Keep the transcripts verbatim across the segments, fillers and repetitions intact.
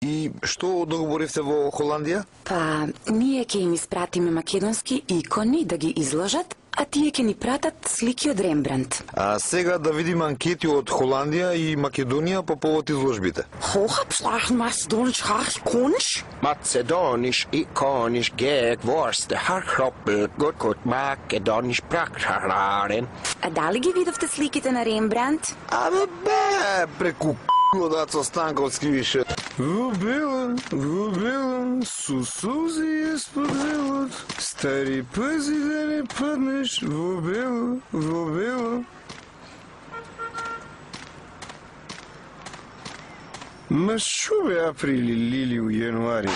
И што договоривте во Холандија? Па, ние ќе им испратиме македонски икони да ги изложат, а тие ќе ни пратат слики од Рембрандт. А сега да видиме анкети од Холандија и Македонија по повод изложбите. Hoogopslag Macedonisch ikonisch? Macedonisch ikonisch gek worste harkroppel gut gut Macedonisch praktaren. А дали ги видовте сликите на Рембрандт? Абе бе, преку Дацо Станков скривише. Во бело, во бело, со сълзи е споделот. Стари пази да не паднеш, во бело, во бело. Ма шо бе април или у јануари?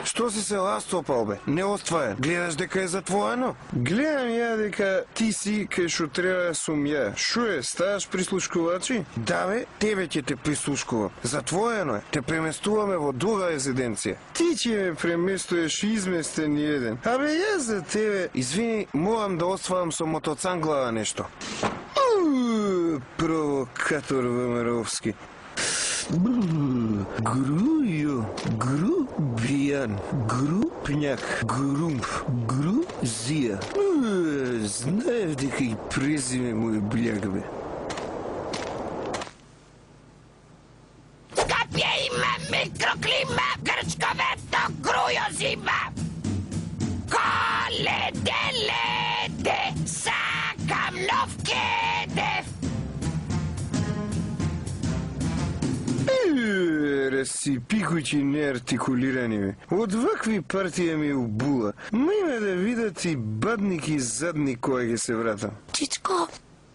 Што си се ластопал, бе? Не остваен. Гледаш дека е затворено? Гледам ја дека ти си кај шо треба сум ја. Шо е, ставаш прислушкувачи? Да, бе, тебе ќе те прислушкувам. Затворено е. Те преместуваме во друга резиденција. Ти ќе ме преместуеш изместен еден. Абе, јас за тебе, извини, морам да остварам со мотоцанглава нешто. Ууу, провокатор ВМРО-вски. Грујо, грубијан, групњак, грумп, грузија. Знаев дека и презиме му е бљаг, бе. Скапје има микроклима, грчковето, грујо зима. Коледе, леде, сакам нов кедев. Расипи куќи неартикулирани, бе. Од вакви партија ми убула. Ма има да видат и бадник и задник кога ќе се вратам. Чичко,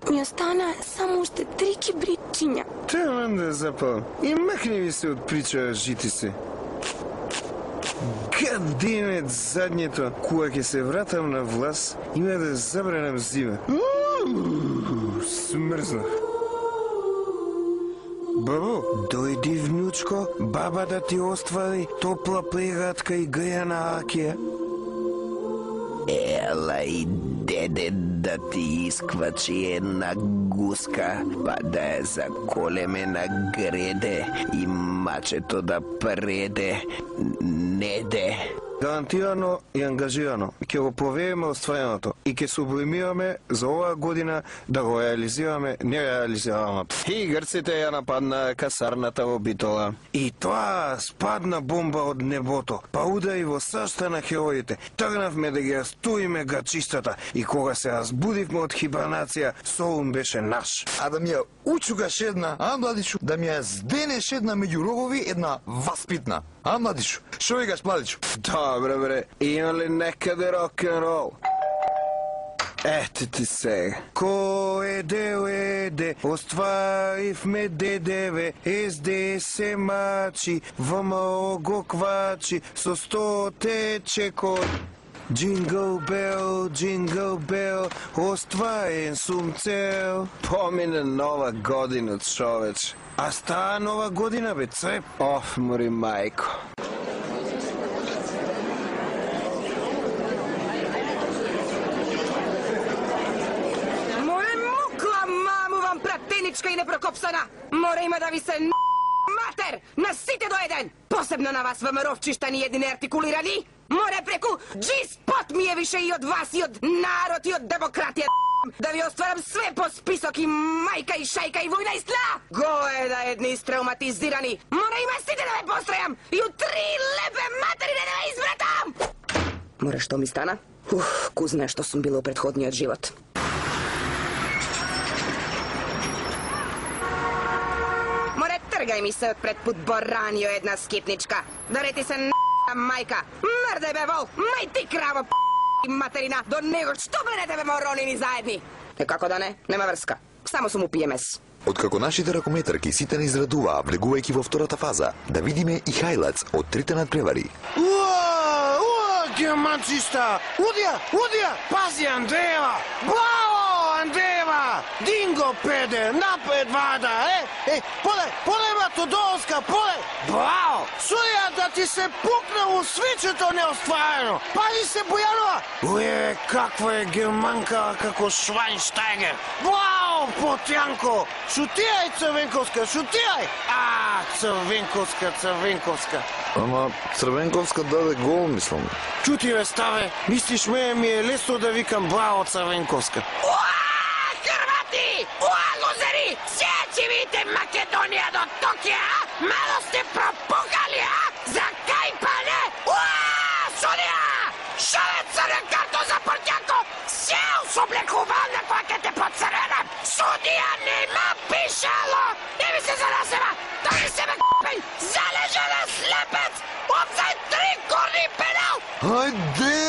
ми остана само уште три кибритчиња. Таман да запалам. И макни ви се од причава жити се. Гадемет задњето, кога ќе се вратам на власт, има да забранам зима. Смрзнах. Бабо, дојди внучко, баба да ти оствари топла преградка и грејана акија. Ела и деде да ти исквачи една гуска, па да ја заколеме на греде и мачето да преде, неде. Гарантирано и ангажирано ќе го провериме оствареното и ќе сублимираме за оваа година да го реализираме нереализираното. И грците ја нападна касарната во Битола. И тоа спадна бомба од небото, па удари во срцата на хероите. Тргнавме да ги растуриме грчистата и кога се разбудивме од хибернација, Солун беше наш. А да ми ја учугаш една, а, младичу? Да ми ја зденеш една меѓу рогови, една васпитна. А, младичу? Шо викаш, младичу? Добре, бре, има ли некаде рок-н-рол? Ете ти сега. Кој дел еде, остваривме ДДВ, СДС се мачи, ВМРО го квачи, со сто тече код. Джингл бел, джингл бел, остварен сум цел. Помине нова година, човеч. А става нова година, бе, цреп. Оф, мори мајко. Пратеничка и непрокопсана! Мора има да ви се н*** матер на сите до еден! Посебно на вас, ВМРО-вчиштани едни неартикулирани! Море преку G-спот ми е више и од вас, и од народ, и од демократија, да ви остварам све по список и мајка, и шајка, и војна, и сла! Го е да едни истрауматизирани! Мора има сите да ме постројам! И у три лепе матери да ме извратам! Море, што ми стана? Ух, ку знае што сум била у предходниот живот. Тргај ми се од пред пут Боранио една скипничка. Дарети се н*** мајка. Мрде бе вол, мај ти краво и материна. До него што бленете бе моронини заедни? Е како да не, нема врска. Само сум у пи ем ес. Откако нашите ракометарки сите не израдуваа, влегувајќи во втората фаза, да видиме и хајлац од трите надпревари. Уа, уа, германчиста! Удија, удија! Пази, Андреева! Браво, Андреева! Динго, педе, напред вада, е? Е, поле, поле, Матодорска, поле! Браво! Сурија да ти се пукна у свичето неостварено! Пази се, Бојанова! Уе, каква е германка како Швајнштайгер! Браво, Потјанко! Шутирај, Црвенковска, шутирај! А, Црвенковска, Црвенковска. Ама Црвенковска даде гол, мислам. Чути ме, ставе, мислиш ме ми е лесно да викам браво Црвенковска. Уа, Хрвати! Уа, лузери! Сега ќе видите Македонија до Токија, а? Мало сте пропукали, а? За кај па не? Уа, судија! Шале црвен карто за Портјако! Сега усоблекувална која ќе те поцрвенам! Судија нема пишало! Не ми се занасева! Да ми се ме к***ен! Залежена слепец! Офсајд три, корни пенал! Ајде,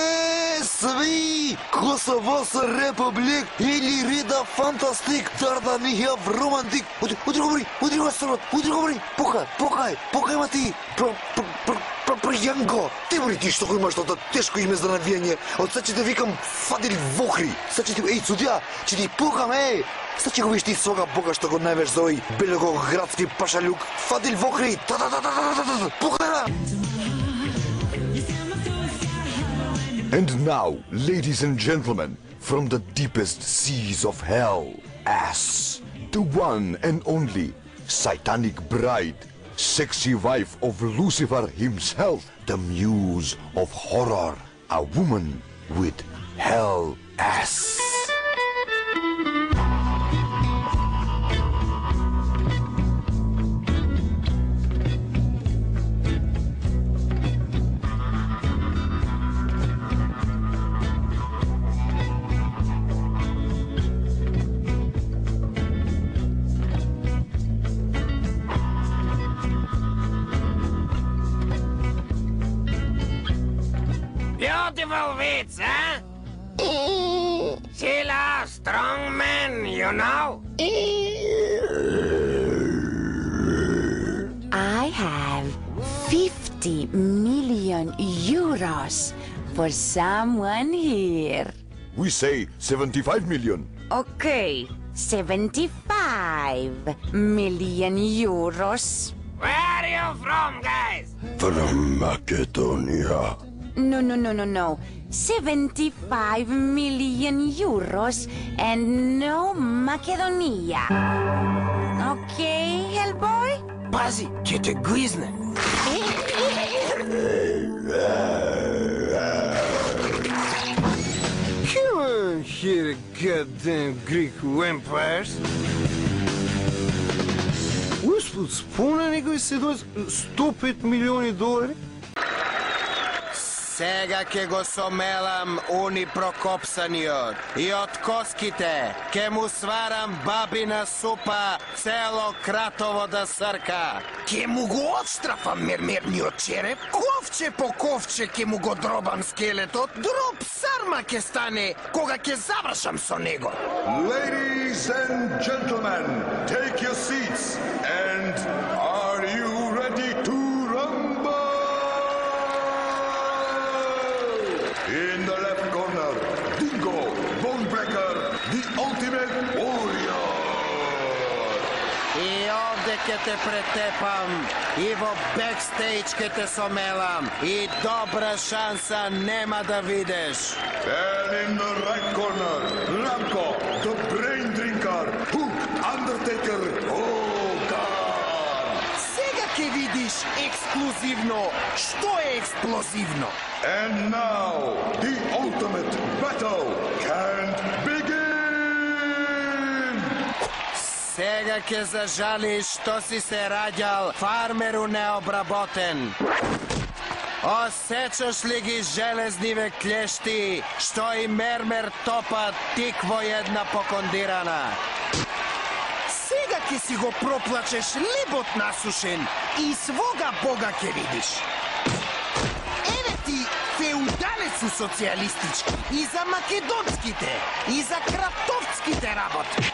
сви! Косово са републик или рида фантастик, Дарданија в романтик. Удри, удри го бри, удри го срот, удри го бри. Покај, покај, покај ма ти. Про, про, про, про, про Јанко. Ти бри ти што го имаш тоа тешко име за навијање. Од сега ќе те викам Фадил Вохри. Сега ќе ти, еј, судија, ќе ти пукам, еј. Сега ќе го виш ти свога бога што го највеш за овој белоградски пашалюк. Фадил Вохри. Та та та та та та та. Покај. And now, ladies and gentlemen, from the deepest seas of hell, ass, the one and only satanic bride, sexy wife of Lucifer himself, the muse of horror, a woman with hell ass. Beautiful wits, huh? Sheila, strong man, you know? I have fifty million euros for someone here. We say seventy-five million. Okay, seventy-five million euros. Where are you from, guys? From Macedonia. No, no, no, no, no. seventy-five million euros and no Macedonia. Okay, Hellboy? Пази, ќе те гризне. Come on here, goddamn Greek vampires. Успут, спомна некој се дојс сто и пет милиони долари? Сега ќе го сомелам уни прокопсаниот и од коските ќе му сварам бабина супа цело кратово да срка. Ќе му го отстрафам мермерниот череп, ковче по ковче ќе му го дробам скелетот, дроб сарма ќе стане кога ќе завршам со него. Ladies and gentlemen, take your seats. And are you ready to rumble? In the left corner, Dingo, Bonebreaker, the ultimate warrior. И овде ќе те претепам, и во бекстејдж ќе те сомелам, и добра шанса нема да видиш. And in the right corner, Ramko, the brain drinker, Hook, Undertaker, Hogan. Сега ќе видиш ексклузивно што е експлозивно. And now, the ultimate battle can begin! Сега ќе зажалиш што си се раѓал фармеру необработен. Осечаш ли ги железниве клешти, што и мермер топат тик во една покондирана? Сега ќе си го проплачеш лебот насушен и свога бога ќе видиш. Еве ти феудалецу социјалистички и за македонските, и за кратовцките работи.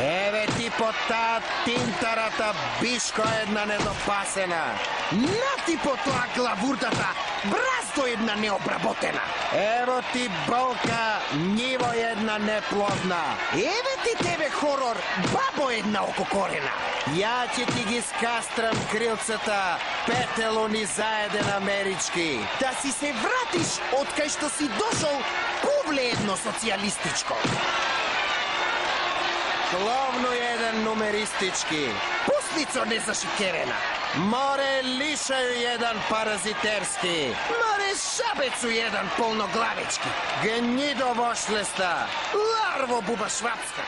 Еве ти по таа тинтарата бишко една недопасена. На ти по тоа главурдата бразто една необработена. Ево ти болка ниво една неплодна. Еве ти тебе хорор бабо една ококорена. Ја ќе ти ги скастрам крилцата, петелуни заеден амерички. Да си се вратиш од кај што си дошол, повле едно социјалистичко. Кловно еден нумеристички. Пусниco незашикерена. Море лишају еден паразитерски. Море шабецу еден полноглавички. Гнидо вошлеста. Ларво буба швапска.